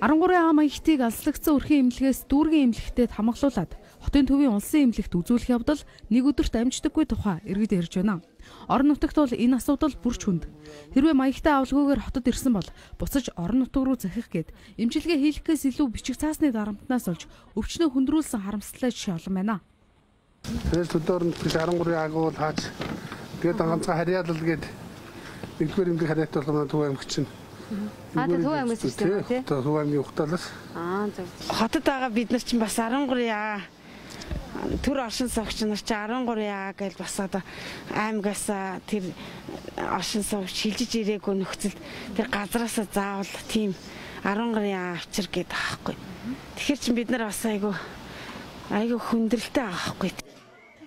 13А маягтыг алслагдсан өрхийн эмнэлгээс дүүргийн эмнэлэгтээ хамгаалуулад хотын төвийн улсын эмнэлэгт үзүүлэх явдал нэг өдөрт амждаггүй тухай иргэд ярьж байна. Орон нутагт бол энэ асуудал бүрч хүнд. Хэрвээ маягтай авалгүйгээр хотод ирсэн бол буцаж орон нутаг руу захих гээд эмчилгээ хийлгэхээс илүү бичиг цаасны дарамтнаас олж өвчнөө хүндрүүлсэн харамсалтай жишээ олон байна. Тэрс өдөр нь 13 агуул хаач тэгээд ганцхан харьяалал гээд нэгдүгээр эмнэлэг харьяат болгоно Төв аймагт чинь. Төв аймагт чинь тий. Төв аймгийн ухтаалаас. Зөв. Хотод байгаа бид нар чинь бас 13А төр оршин суугч нар чи 13А гэж бас одоо аймагаас тэр оршин суугч шилжиж ирээгүй нөхцөлд тэр газраас заавал тийм 13А авчир гэдэг аахгүй. Тэгэхээр чи бид нар бас айгүй хүндрэлтэй аахгүй.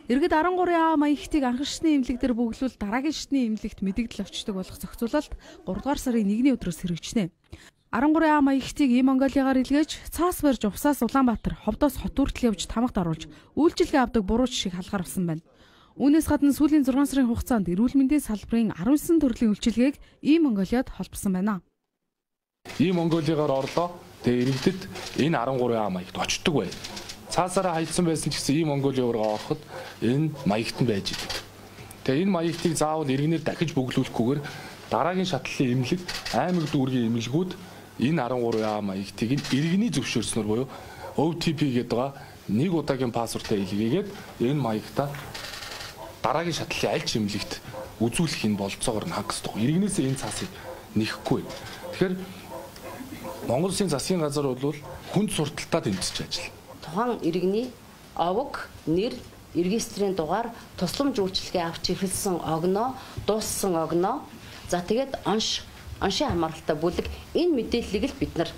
Иргэд 13А маягтыг анхан шатны эмнэлэг дээр бөглүүл дараагийн шатны эмнэлэгт мэдэгдэл авчдаг болох зохицуулалт 3 дугаар сарын 1-ний өдрөөс хэрэгжинэ. 13А маягтыг ийм Монголигаар илгээж цаас барьж Увсаас Улаанбаатар, Ховдоос хот хүртэл явж тамагт оруулж үйлчилгээ авдаг бурууч шиг халгаар авсан байна. Үүнээс гадна сүүлийн 6 сарын хугацаанд эрүүл мэндийн салбарын 19 төрлийн үйлчилгээг ийм Монголиад холбосон байна. Ийм Монголигаар орлоо. Тэгээ иргэдэд энэ 13А маягт очдог бай. Цаасаараа хайцсан байсан ч гэсэн ийм Монголын ургаа ороход энэ маягт нь байж идэг. Тэгээ энэ маягтыг заавал иргэнээр дахиж бөглүүлэхгүйгээр дараагийн шатлалын эмнэлэг, аймаг дүүргийн эмнэлгүүд энэ 13А маягтыг иргэний зөвшөөрснөөр буюу OTP гэдэг байгаа нэг удаагийн пассвортаа илгээгээд энэ маягтаа дараагийн шатлалын аль ч эмнэлэгт үзүүлэх энэ болцоогоор нь хангасдаг. Иргэнээсээ энэ цаасыг нэхэхгүй. Тэгэхээр Монгол Улсын засгийн газар бол хүнд сурталтаа тэмцэж ажиллана. Тухайн иргэний овог, нэр, регистрийн дугаар, тусламж үйлчилгээ авч эхэлсэн огноо, дууссан огноо, за тэгээд оншийн хамааралтай бүлэг энэ мэдээллийг л бид нар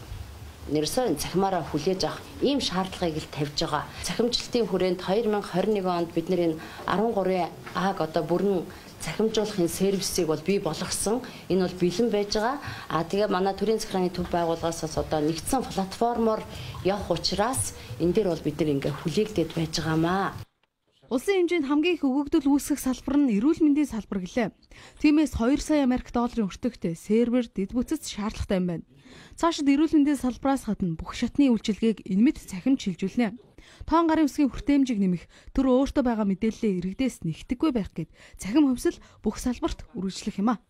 нэрсээ цахимаараа хүлээж авах ийм шаардлагыг л тавьж байгаа. Цахимжлалтын хүрээнд 2021 онд бид нар энэ 13А-г одоо бүрэн цахимжуулахын сервисийг бол бий болгосон. Энэ бол бэлэн байж байгаа. Тэгээ манай төрийн захиргааны төв байгууллагаас одоо нэгдсэн платформоор явах учраас энэ дээр бол бид нар ингээ хүлээгдээд байж байгаамаа. Улсын хэмжээнд хамгийн их өгөгдөл үүсгэх салбар нь эрүүл мэндийн салбар гэлээ. Тиймээс 2 сая Америк долларын өртөгтэй сервер, дэд бүтц шаардлагатай юм байна. Цаашид эрүүл мэндийн салбараас гадна бүх шатны үйлчилгээг энэ мэд цахимж шилжүүлнэ. Тоон гарын үсгийн хүртээмжийг нэмэх, төр өөртөө байгаа мэдээллээ иргэдээс нэгтгэхгүй байх гээд цахим хөвсөл бүх салбарт үргэлжлэх юм а.